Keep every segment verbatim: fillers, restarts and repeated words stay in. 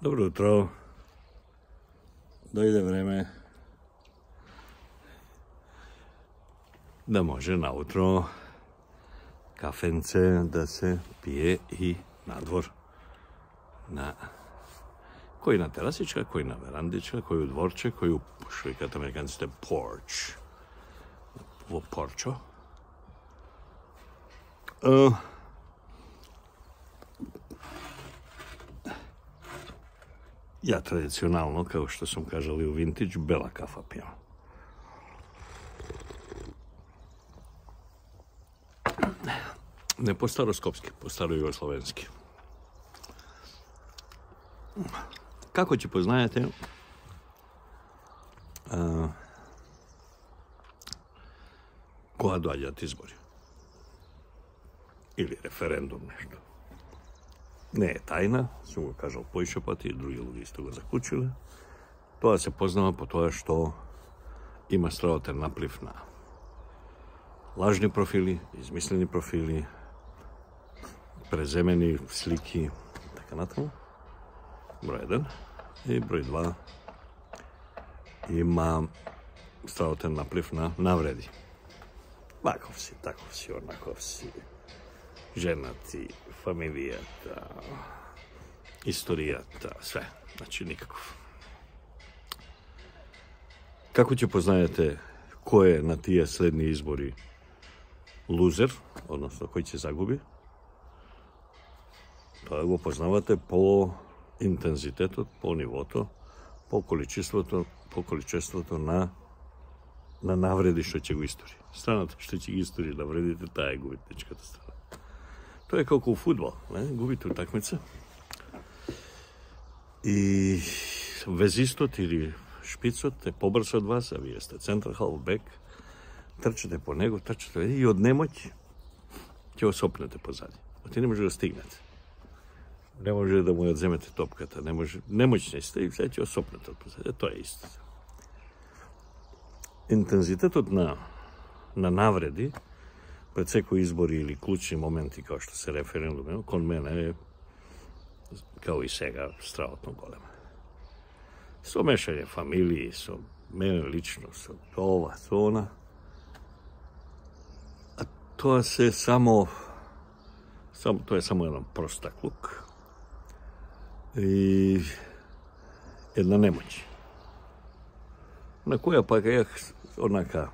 Dobro jutro. Doјде време да може наутро кафенце да се пие и надвор. На кој на терасичка, кој на верандичка, кој у дворче, кој у, што викаат американците, порч. Во порчо. Uh, Ја традиционално, како што сум кажал и у Винтидж, бела кафа пијам. Не по староскопски, по старојугословенски. Како ќе познаете, а, кога доаѓаат избори? Или референдум нешто. Не е тајна, сум го кажал поише пати, и други луѓе исто го заклучиле. Тоа се познава по тоа што има стравотен наплив на лажни профили, измислени профили, преземени слики, така натаму. Број еден. И број два, има стравотен наплив на навреди. Ваков си, таков си, онаков си, женати, фамилијата, историјата, све. Значи, никаков. Како ќе познаете кој е на тие следни избори лузер, односно кој ќе загуби? Тоа го познавате по интензитетот, по нивото, по количеството, по количеството на на навреди што ќе го истори. Страната што ќе ги истори навредите, таа е губитничката страна. Тоа е како у фудбал, не? Губите утакмица. И везистот или шпицот е побрз од вас, а вие сте центар халфбек, трчате по него, трчате и од немоќ ќе осопнете позади. Оти не може да стигнете. Не може да му ја земете топката, не може, немоќни сте и сега ќе осопнете од позади. Тоа е исто. Интензитетот на, на навреди пред секој избори или клучни моменти како што се референдуми, кон мене е, као и сега, стравотно голем. Со мешање фамилии, со мене лично, со ова, со она. А тоа се само, само тоа е само еден простаклук и една немоќ. На која пак ја онака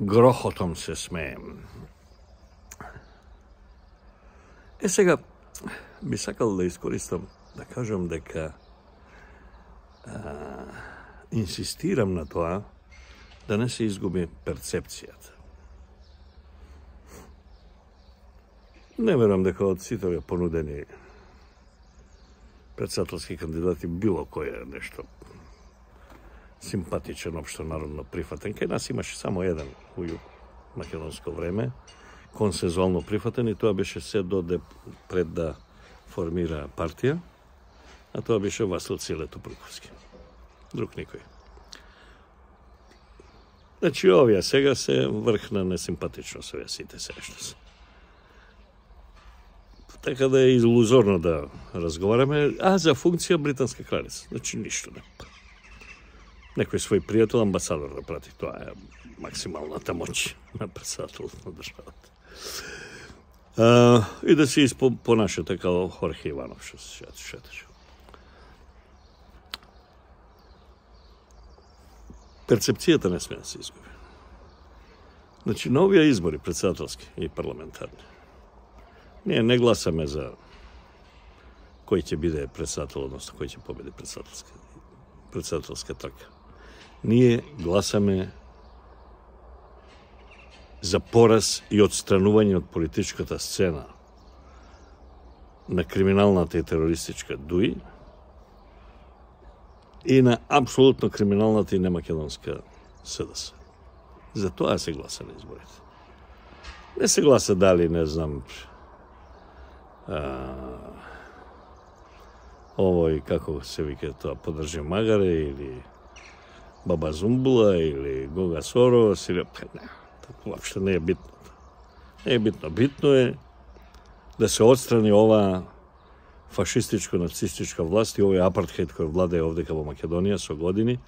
грохотом се смеем. Е сега, би сакал да искористам, да кажам дека а, инсистирам на тоа да не се изгуби перцепцијата. Не верам дека од сите овие понудени председателски кандидати било кој е нешто симпатичен, општо народно прифатен. Кај нас имаше само еден у македонско време, консензуално прифатен, и тоа беше се доде пред да формира партија, а тоа беше Васил Циле Тупруковски. Друг никој. Значи, овие сега се врх на несимпатичност, овие сите се што се. Така да е илузорно да разговараме, а за функција британска кралица. Значи, ништо не. Некој свој пријател амбасадор да прати, тоа е максималната моќ на председателот на државата. А, и да се понашате како Хорхе Иванов, што се шеташе. Перцепцијата не сме да се изгуби. Значи, на овие избори, председателски и парламентарни, ние не гласаме за кој ќе биде председател, односно кој ќе победи председателска, председателска трка. Ние гласаме за пораз и отстранување од политичката сцена на криминалната и терористичка ДУИ и на апсолутно криминалната и немакедонска СДС. За тоа се гласа на изборите. Не се гласа дали, не знам, а, овој, како се вика тоа, Подржи Магаре, или Баба Зумбула, или Гога Сорос, или... Не, така воопшто не е битно. Не е битно. Битно е да се отстрани ова фашистичко-нацистичка власт и овој апартхейд кој владее овдека во Македонија со години,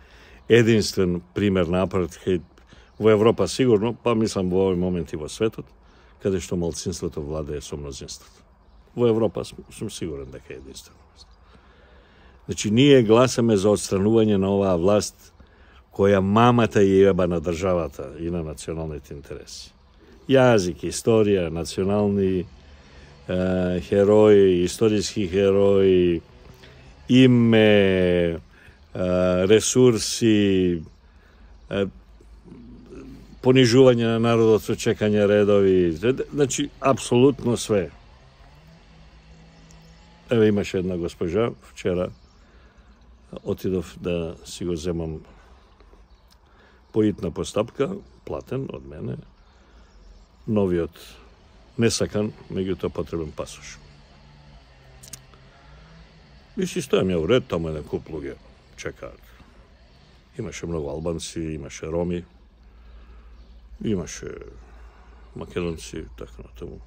единствен пример на апартхейд во Европа сигурно, па мислам во овој момент и во светот, каде што малцинството владее со мнозинството. Во Европа сум сигурен дека е единствен. Значи, ние гласаме за отстранување на оваа власт која мамата ја еба на државата и на националните интереси. Јазик, историја, национални е, херои, историски херои, име, е, ресурси, е, понижување на народот со чекање редови, значи, апсолутно све. Еве имаше една госпожа, вчера отидов да си го земам поитна постапка, платен од мене, новиот несакан, меѓутоа потребен пасош. И си стојам ја уред, таму еден куп луѓе чекаат. Имаше многу албанци, имаше роми, имаше македонци, така на тому.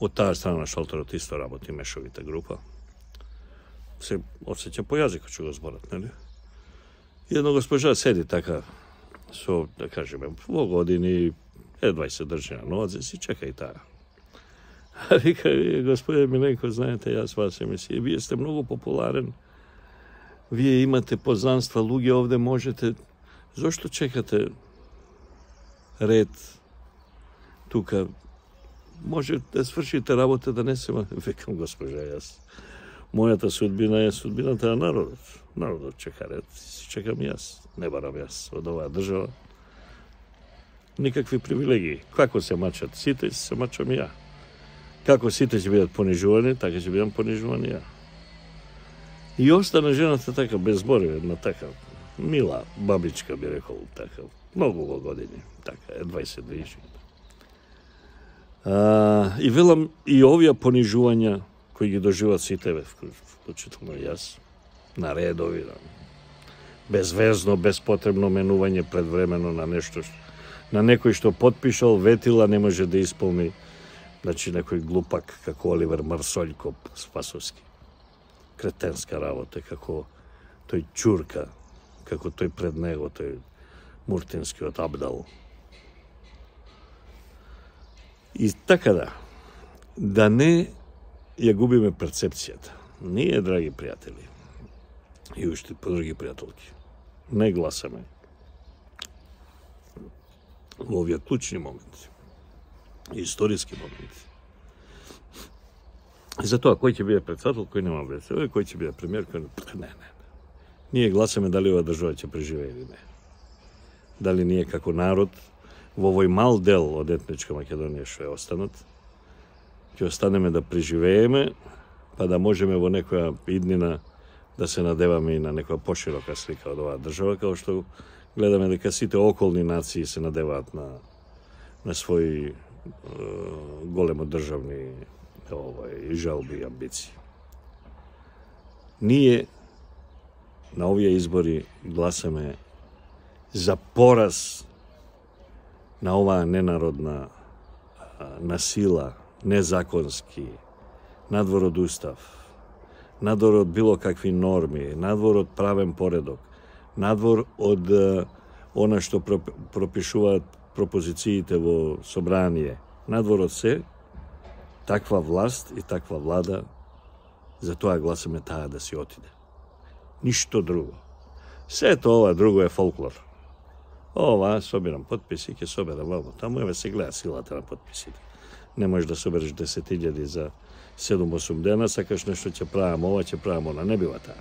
Од таа страна на шалтерот исто работи мешовита група. Се осеќа по јазикот што го зборат, нели? И една госпожа седи така, со, да кажеме, во години, едва и се држи на нозе, си чека и таа. А вика, господе Миленко, знаете, јас вас емисија, вие сте многу популарен, вие имате познанства, луѓе овде можете, зошто чекате ред тука, може да свршите работа, да не се... Викам, госпожа, јас, мојата судбина е судбината на народот. Народот чека ред, си чекам јас, не барам јас од оваа држава. Никакви привилегии. Како се мачат сите, се мачам ја. Како сите ќе бидат понижувани, така ќе бидам понижувани ја. И остана жената така, без зборови, една така, мила бабичка, би рекол, така, многу во години, така, едва и се движи. А, и велам, и овие понижувања, кои ги доживат сите, вклучително јас, на редови, на безвезно, безпотребно менување предвремено на нешто, на некој што подпишал, ветила, не може да исполни, значи некој глупак, како Оливер Марсољко Спасовски. Кретенска работа, како тој Чурка, како тој пред него, тој Муртинскиот Абдал. И така да, да не ја губиме перцепцијата. Ние, драги пријатели, и уште подруги пријателки, не гласаме во овие клучни моменти, историски моменти. И за тоа, кој ќе биде председател, кој нема врез, кој ќе биде премиер, кој не, не, не. Ние гласаме дали ова држава ќе преживее или не. Дали ние како народ, во овој мал дел од етничка Македонија што е останат, ќе останеме да преживееме, па да можеме во некоја иднина да се надеваме и на некоја поширока слика од оваа држава, као што гледаме дека сите околни нации се надеваат на, на своји е, големо државни овај, жалби и амбиции. Ние на овие избори гласаме за пораз на оваа ненародна насила, незаконски, надвор од устав, надвор од било какви норми, надвор од правен поредок, надвор од она што пропишуваат пропозициите во собрание, надвор од се, таква власт и таква влада, за тоа гласаме таа да си отиде. Ништо друго. Сето ова друго е фолклор. Ова, собирам подписи, ќе соберам вамо. Таму еве се гледа силата на подписите. Не можеш да собереш десет илјади за седум-осум дена, сакаш нешто ќе правам ова, ќе правам она. Не бива таа.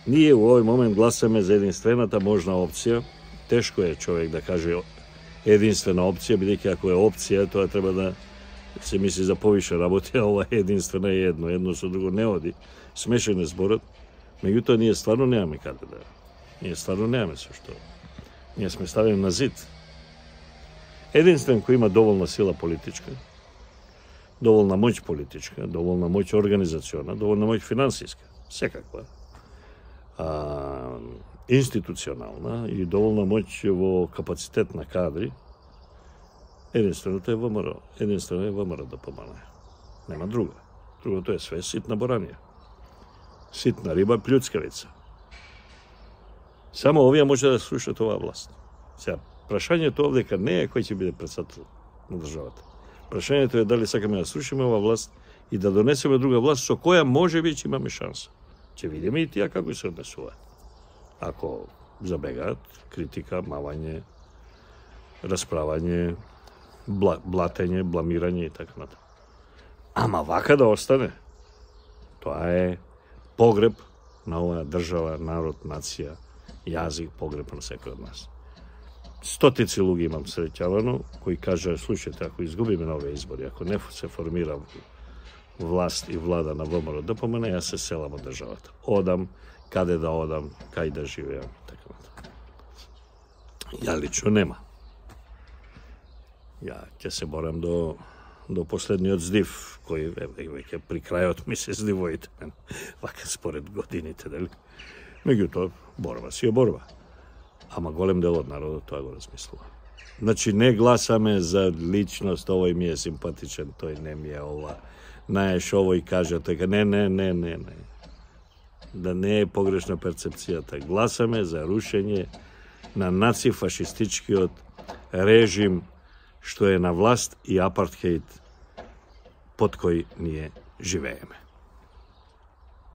Ние во овој момент гласаме за единствената можна опција. Тешко е човек да каже единствена опција, бидејќи ако е опција, тоа треба да се мисли за повише работи, а ова е единствена и едно. Едно со друго не оди. Смешен е зборот. Меѓутоа, ние стварно немаме каде да. Ние стварно немаме со што. Ние сме ставени на зид. Единствен кој има доволна сила политичка, доволна моќ политичка, доволна моќ организациона, доволна моќ финансиска, секаква, а, институционална и доволна моќ во капацитет на кадри, единственото е ВМРО. Единствено е ВМРО да помане. Нема друга. Другото е све ситна боранија. Ситна риба, плюцкавица. Само овие може да слушат оваа власт. Сега, прашањето овдека не е кој ќе биде председател на државата. Прашањето е дали сакаме да срушиме оваа власт и да донесеме друга власт со која може би ќе имаме шанса. Ќе видиме и тие како се однесуваат. Ако забегаат критика, мавање, расправање, бла, блатење, бламирање и така натаму. Ама вака да остане, тоа е погреб на оваа држава, народ, нација, јазик, погреб на секој од нас. Стотици луѓе имам среќавано, кои кажа, слушайте, ако изгубиме на овие избори, ако не се формира власт и влада на ВМРО ДПМН, да јас се селам од државата. Одам, каде да одам, кај да живеам, така натаму. Ја лично нема. Ја ќе се борам до до последниот здив, кој веќе при крајот ми се здивоите мен, вака според годините, дали? Меѓутоа, борба си е борба. Ама голем дел од народот тоа го размислува. Значи, не гласаме за личност, овој ми е симпатичен, тој не ми е ова. Знаеш, овој кажа, така, не, не, не, не, не. Да не е погрешна перцепцијата. Гласаме за рушење на нацифашистичкиот режим што е на власт и апартхеид под кој ние живееме.